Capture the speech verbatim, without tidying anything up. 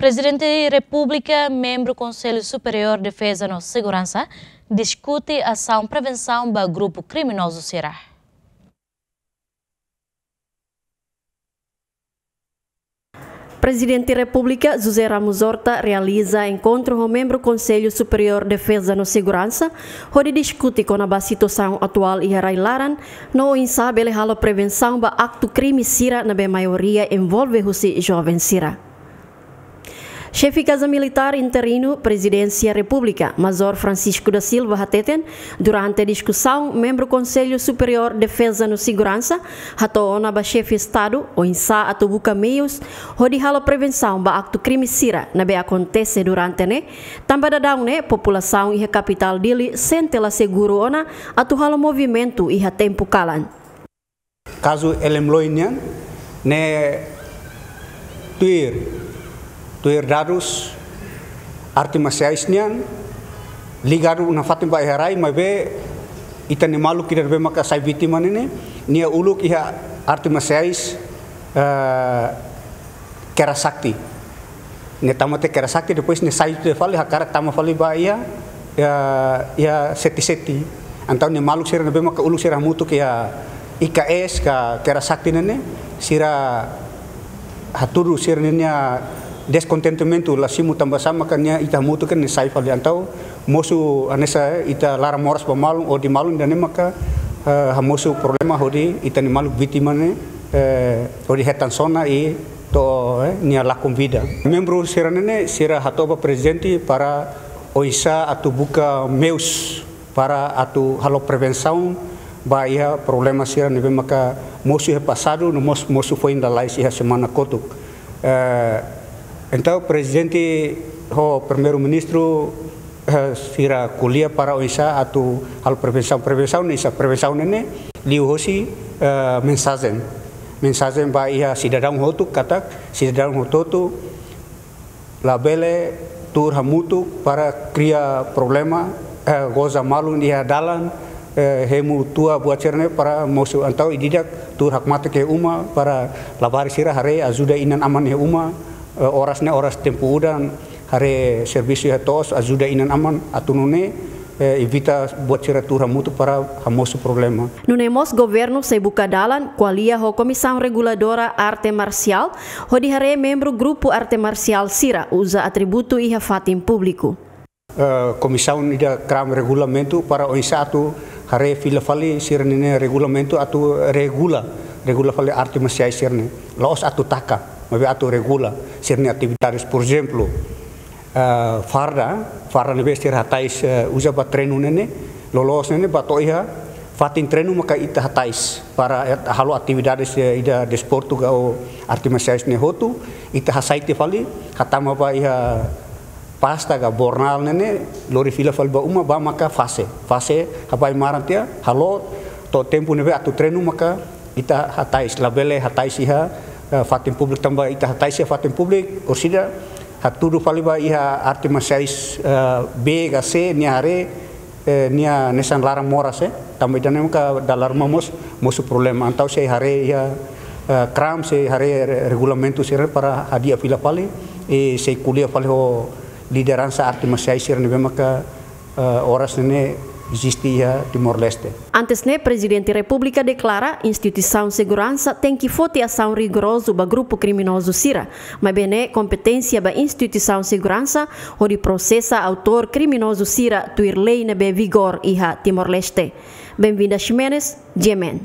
Prezidente Repúblika, membru Konsellu Superiór Defeza no Seguransa, diskute asaun prevensaun ba grupu kriminozu sira. Prezidente Repúblika José Ramos Horta realiza enkontru ho membru Konsellu Superiór Defeza no Seguransa, hodi diskute kona-ba situasaun atuál iha rai-laran, no oinsá bele halo prevensaun ba aktu krime sira ne'ebé maioria envolve husi joven sira. Xefe Kaza Militár interinu Prezidénsia Repúblika, Major Francisco da Silva hateten, durante diskusaun, membru Konsellu Superiór Defeza no Seguransa hato'o ona ba Xefe Estadu oinsá atu buka meius hodi halo prevensaun ba aktu krime sira ne'ebé akontese durante ne'e, tanba daudaun ne'e populasaun iha kapitál Dili sente la seguru ona atu halo movimentu iha tempu kalan. Kazu Elemloi nian, ne'e tuir, tuir dadus arte marsiais nian, ligadu nafatin ba iha rai, maibé ita-nia maluk ida ne'ebé maka sai vítima ne'e, nia uluk iha arte marsiais, eh, Kera Sakti. Nia tama tiha Kera Sakti, depois nia sai tiha fali, hakarak tama fali ba iha, iha, iha Seti-Seti. Entaun nia maluk sira ne'ebé maka uluk sira hamutuk iha I K S ka Kera Sakti ne'e, sira hatudu sira-nia deskondentimentu, la simu tanba sá maka nia ita hamutuk ne'e sai fali. Entaun mosu hanesan ita laran moras ba malu, odi malu, ida-ne'e maka, eh, hamosu problema hodi ita-nia maluk vítima ne'e, eh, hodi hetan sona i to'o, eh, nia lakon vida. Membru sira-ne'e sira hato'o ba prezidente para oinsá atu buka meius para atu halo prevensaun ba iha problema sira ne'ebé maka mosu iha pasadu no mos-, mosu foin lalais iha semana kotuk. Eh, entaun prezidente ho primeiru-ministru, eh, sira ko'alia para oinsá atu halo prevensaun. Prevensaun ne'e oinsá, prevensaun ne'e liuhosi, eh, mensajen. Mensajen ba iha sidadaun hotu katak, sidadaun hotu-hotu labele tuur hamutuk para kria problema, eh, goza malu iha dalan, eh, hemu tua buat sira-ne'e para mosu, entaun ida-idak tuur hakmatek iha uma para labarik sira haree ajuda inan-aman iha uma, eh, oras ne'e oras tempu udan, haree servisu iha to'os, ajuda inan-aman atu nune'e, eh, evita buat sira tuur hamutuk para hamosu problema. Nune'e mós governu sei buka dalan ko'alia ho Komisaun Reguladora Arte Marsiál hodi haree membru grupu arte marsiál sira uza atributu iha fatin públiku. Eh, komisaun ida kram regulamentu para oinsá atu haree fila fali sira-nia regulamentu atu regula, regula fali arte marsiais sira-ne'e. La'ós atu taka, maibé atu regula sira-nia atividades. Por ezemplu, eh, farda, farda ne'ebé sira hatais, eh, uza ba treinu ne'e, loloos ne'e ba to'o iha fatin treinu maka ita hatais para, eh, halo atividades, eh, ida desportu ka arte marsiais ne'e hotu, ita hasai tiha fali, hatama ba iha pasta ka bornal ne'e, lori fila fali ba uma, ba maka fase. Fase habai maran tiha, halo to'o tempu ne'ebé atu treinu maka ita hatais, labele hatais iha, eh, fatin públiku tanba ita hatais iha fatin públiku, orsida hatudu fali ba iha arte marsiais, eh, B ka C, nia haree, eh, nia hanesan laran moras, eh. Tanba ida-ne'e maka dala ruma mós mosu problema. Entaun sei haree iha, eh, kram, sei haree re-, regulamentu sira para hadi'a fila fali, i sei ko'alia fali ho lideransa arte marsiais sira ne'ebé maka, eh, oras ne'e eziste iha Timor-Leste. Antes ne'e, Prezidente Repúblika deklara instituisaun seguransa tenke foti asaun rigorozu ba grupu kriminozu sira, maibé ne'e kompeténsia ba instituisaun seguransa hodi prosesa autór kriminozu sira tuir lei ne'ebé vigor iha Timor-Leste. Benvinda Ximenes, G M N.